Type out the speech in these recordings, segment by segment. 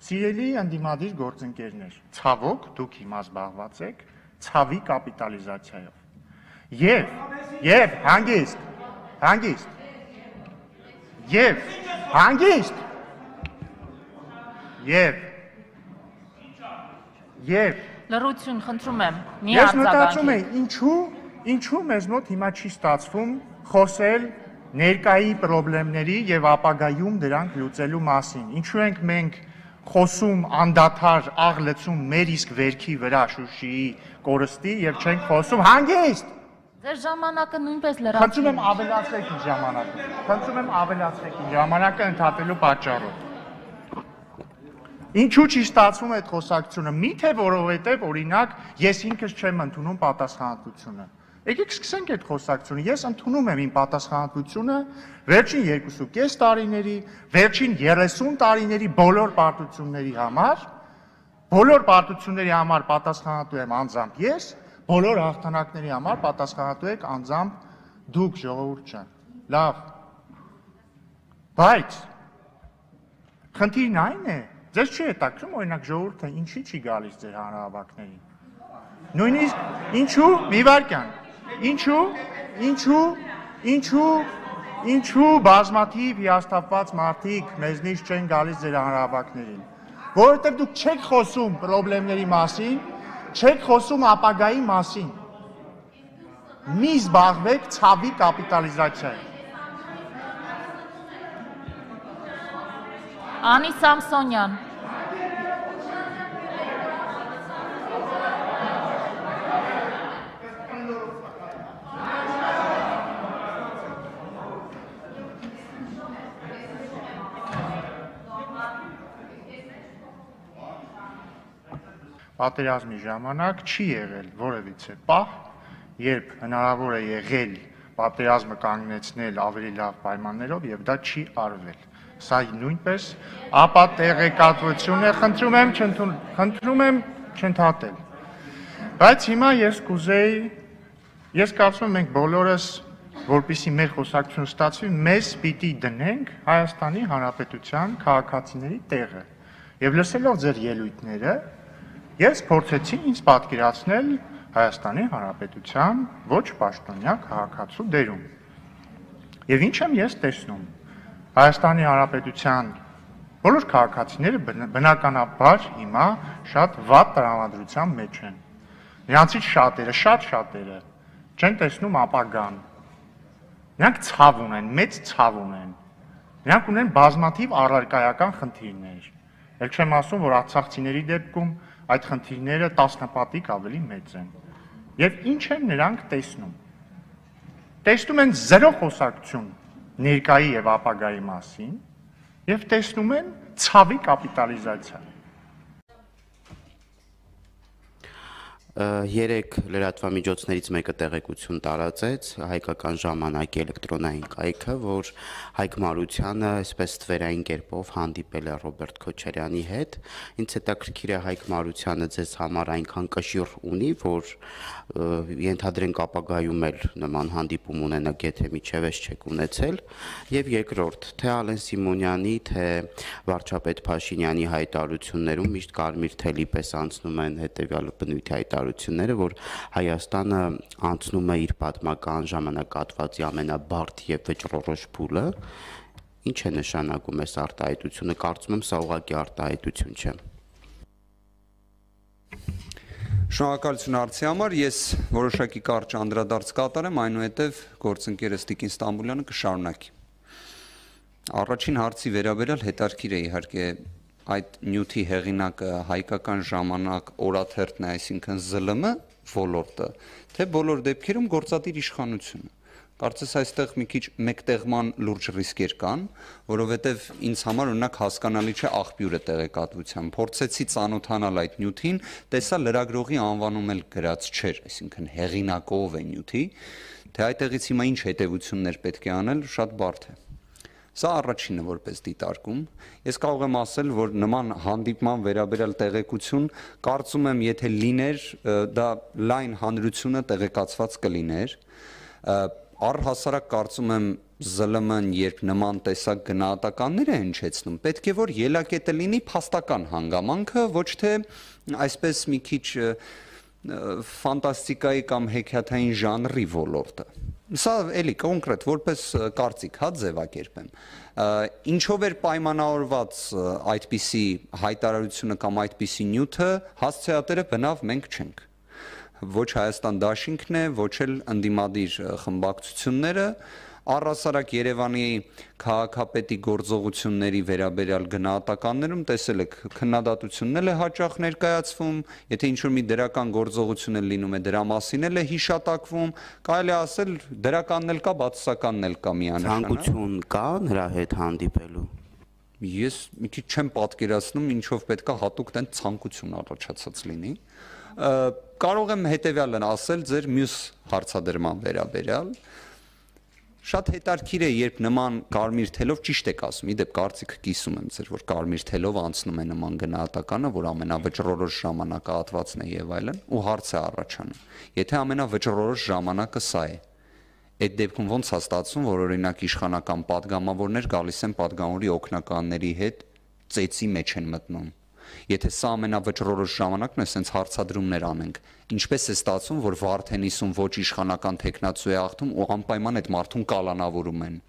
Սիրելի ընդդիմադիր գործընկերներ, ցավոք դուք հիմա զբաղված եք ցավի կապիտալիզացիայով։ Եվ Լռություն, խնդրում եմ, մի ես մտածում արձագանքի։ եմ, ինչու մեզ մոտ հիմա չի ստացվում խոսել ներկայի խնդիրների եւ ապագայում դրանք լուծելու մասին։ Ինչու ենք մենք խոսում անդադար աղլեցում մեր իսկ վերքի վրա Շուշիի կորստի եւ չենք խոսում հանգիստ։ Ձեր ժամանակը նույնպես լրացի։ Խնդրում եմ ավելացրեք իմ ժամանակը ընդհատելու պատճառով։ Ինչու չի ստացվում այդ խոսակցությունը։ Միթե որովհետեւ օրինակ ես ինքս չեմ ընդունում պատասխանատվությունը։ Եկեք սկսենք այդ խոսակցությունը։ Ես ընդունում եմ իմ պատասխանատվությունը վերջին 2.5 տարիների, վերջին 30 տարիների բոլոր պարտությունների համար։ Բոլոր պարտությունների համար պատասխանատու եմ անձամբ ես, բոլոր հաղթանակների համար պատասխանատու եք անձամբ դուք, ժողովուրդ ջան։ Լավ։ Բայց խնդիրն այն է, ձեզ չի հետաքրքրում օրինակ ժողովուրդը ինչի չի գալիս ձեր հանրահավաքներին։ Նույնիսկ ինչու, մի վարքյան, ինչու բազմաթիվ հիասթափված մարդիկ մեզնից չեն գալիս ձեր հանրահավաքներին։ Որովհետև դուք չեք խոսում խնդիրների մասին, չեք խոսում ապագայի մասին։ Մի զբաղվեք ցավի կապիտալիզացիայով։ Անի Սամսոնյան։ Պատերազմի ժամանակ չի եղել որևիցե պահ, երբ հնարավոր է եղել պատերազմը կանգնեցնել ավելի լավ պայմաններով եւ դա չի արվել։ Սա նույնպես ապա տեղեկատվություն է, խնդրում եմ չընդհատել։ Բայց հիմա ես կարծում եմ մենք բոլորս, որպեսզի մեր խոսակցությունը ստացվի, մեզ պիտի դնենք Հայաստանի Հանրապետության քաղաքացիների տեղը։ Եվ լսելով ձեր ելույթները, ես փորձեցի ինձ պատկերացնել Հայաստանի Հանրապետության ոչ պաշտոնյա քաղաքացու դերում։ Եվ ինչ եմ ես տեսնում։ Հայաստանի Հանրապետության բոլոր քաղաքացիները բնականաբար հիմա շատ վատ տրամադրության մեջ են։ Նրանցից շատերը չեն տեսնում ապագան։ Նրանք ցավ ունեն, մեծ ցավ ունեն։ Նրանք ունեն բազմաթիվ առարկայական խնդիրներ։ Էլ չեմ ասում, որ արցախցիների դեպքում այդ խնդիրները 10 պատիկ ավելի մեծ են։ Եվ ինչ են նրանք տեսնում։ Տեսնում են զերո խոսակցություն ներկայի եւ ապագայի մասին եւ տեսնում են ցավի կապիտալիզացիա։ Երեք լրատվամիջոցներից մեկը տեղեկություն տարածեց հայկական ժամանակի էլեկտրոնային կայքը, որ Հայկ Մարությանը այսպես թվերային կերպով հանդիպել է Ռոբերտ Քոչարյանի հետ։ Ինձ հետաքրքիր է Հայկ Մարությանը ձեզ համար այնքան կշիռ ունի, որ ենթադրենք ապագայում էլ նման հանդիպում ունենա, եթե միջևես չեք ունեցել։ Եվ երկրորդ, թե Ալեն Սիմոնյանի, թե վարչապետ Փաշինյանի հայտարարություններում միշտ կարմիր թելի պես անցնում են հետևյալ բնույթի հայտարարությունները, որ Հայաստանը անցնում է իր պատմական ժամանակահատվածի ամենաբարդ եւ վճռորոշ փուլը, ինչ է նշանակում այս արտահայտությունը, կարծում եմ սա ուղղակի արտահայտություն չէ։ Շնորհակալություն հարցի համար, ես որոշակի կարճ անդրադարձ կատարեմ, այնուհետև գործընկերս Տիկին Ստամբուլյանը կշարունակի։ Առաջին հարցի վերաբերյալ հետաքրքիր է իհարկե այդ նյութի հեղինակը հայկական ժամանակ օրաթերթն է, այսինքն ԶԼՄ ոլորտը, թե բոլոր դեպքերում գործադիր իշխանությունը։ Կարծես այստեղ մի քիչ մեկտեղման լուրջ ռիսկեր կան, որովհետև ինձ համար օրինակ հասկանալի չէ աղբյուրը տեղեկատվության։ Փորձեցի ծանոթանալ այդ նյութին, տեսա լրագրողի անվանում էլ գրած չէր, այսինքն հեղինակով է նյութի, թե այդտեղից հիմա ինչ հետևություններ պետք է անել, շատ բարդ է։ Սա առաջինը որպես դիտարկում։ Ես կարող եմ ասել, որ նման հանդիպման վերաբերյալ տեղեկություն, կարծում եմ, եթե լիներ, դա լայն հանրությունը տեղեկացված կլիներ։ Առհասարակ կարծում եմ ԶԼՄ-ն երբ նման տեսակ գնահատականներ է հնչեցնում, պետք է որ ելակետը լինի փաստական հանգամանքը, ոչ թե այսպես մի քիչ ֆանտաստիկայի կամ հեքիաթային ժանրի ոլորտը։ Սա էլի կոնկրետ որպես կարծիք հա ձևակերպեմ։ Ինչով էր պայմանավորված այդպիսի հայտարարությունը կամ այդպիսի նյութը, հասցեատերը բնավ մենք չենք։ Ոչ Հայաստան Դաշինքն է, ոչ էլ ընդդիմադիր խմբակցությունները, առհասարակ Երևանի քաղաքապետի գործողությունների վերաբերյալ գնահատականներում տեսել եք քննադատությունն է հաճախ ներկայացվում, եթե ինչ-որ մի դրական գործողություն է լինում է դրա մասին էլ է հիշատակվում, կարելի է ասել դրականն էլ կա, բացասականն էլ կա միանշանակ։ Ցանկություն կա նրա հետ հանդիպելու։ Ես մի քիչ չեմ պատկերացնում, ինչով պետքա հատուկ տեն ցանկություն առաջացած լինի։ Կարող եմ հետևյալն ասել ձեր մյուս հարցադրման վերաբերյալ։ Շատ հետաքրքիր է, երբ նման կարմիր թելով ճիշտ եք ասում, իդեպ կարծիքը կիսում եմ ձեր, որ կարմիր թելով անցնում է նման գնահատականը, որ ամենավճռորոշ ժամանակահատվածն է եւ այլն, ու հարց է առաջանում։ Եթե ամենավճռորոշ ժամանակը սա է, այդ դեպքում ո՞նց է ստացվում, որ օրինակ իշխանական падգամավորներ գալիս են падգամավորի օգնականների հետ ծեծի մեջ են մտնում։ Եթե սա ամենավճռորոշ ժամանակն է, ասենց հարցադրումներ անենք, ինչպես է ստացվում, որ Վարդենիսում ոչ իշխանական տեխնացու է աղթում ու անպայման այդ մարդուն կալանավորում են։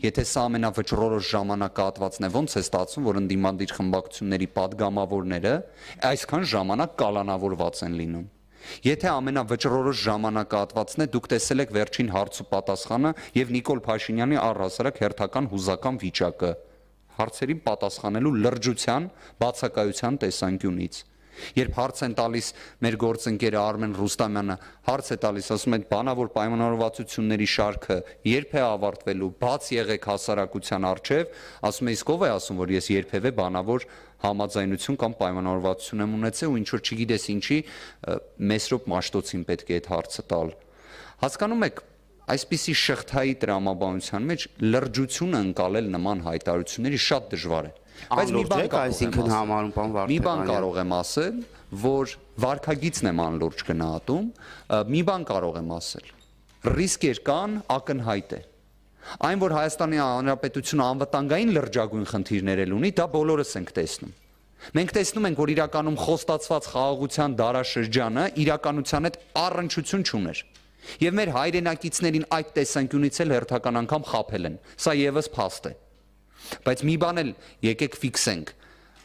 Եթե սա ամենավճռորոշ ժամանակահատվածն է, ո՞նց է ստացվում, որ ընդդիմադիր խմբակցությունների падգամավորները այսքան ժամանակ կալանավորված են լինում։ Եթե ամենավճռորոշ ժամանակահատվածն է, դուք տեսել եք վերջին հարց ու պատասխանը եւ Նիկոլ Փաշինյանի առհասարակ հերթական հուզական վիճակը հարցերին պատասխանելու լրջության, բացակայության տեսանկյունից։ Երբ հարց են տալիս մեր գործընկերը Արմեն Ռուստամյանը, հարց է տալիս, ասում է բանավոր պայմանավորվածությունների շարքը երբ է ավարտվելու, բաց եղեք հասարակության առջև, ասում է իսկ ով է ասում, որ ես երբևէ բանավոր համաձայնություն կամ պայմանավորվածություն եմ ունեցել ու ինչ որ չգիտես ինչի Մեսրոպ Մաշտոցին պետք է այդ հարցը տալ։ Հասկանում եք, այսպիսի շղթայի տրամաբանության մեջ լրջությունը ընկալել նման հայտարարությունների շատ դժվար է։ Բայց մի բան այսինքն համարում բան Մի բան կարող եմ ասել, որ վարքագիծն եմ անլուրջ գնահատում, մի բան կարող եմ ասել։ Ռիսկեր կան, ակնհայտ է։ Այն, որ Հայաստանի Հանրապետությունը անվտանգային լրջագույն խնդիրներ ունի, դա բոլորս ենք տեսնում։ Մենք տեսնում ենք, որ իրականում խոստացված խաղաղության դարաշրջանը իրականության հետ առնչություն չուներ։ Եվ մեր հայրենակիցներին այդ տեսանկյունից էլ հերթական անգամ խաբել են։ Սա եւս փաստ է։ Բայց մի բան էլ եկեք ֆիքսենք,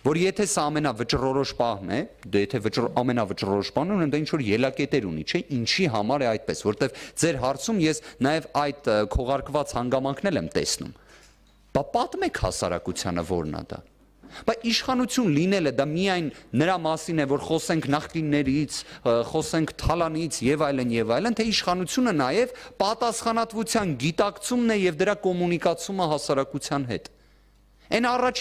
որ եթե սա ամենավճռորոշ պահն է, դե եթե ամենավճռորոշ պահն ունեն, դա ինչ որ ելակետեր ունի, չէ՞, ինչի համար է այդպես, որտեվ ձեր հարցում ես նաև այդ քողարկված հանգամանքն եմ տեսնում։ Բա պատմեք հասարակությանը որն է դա։ Բայց իշխանություն լինելը դա միայն նրա մասին է, որ խոսենք նախկիններից, խոսենք թալանից եւ այլն, թե իշխանությունը նաեւ պատասխանատվության գիտակցումն է եւ դրա կոմունիկացումը հասարակության հետ։ Այն առաջին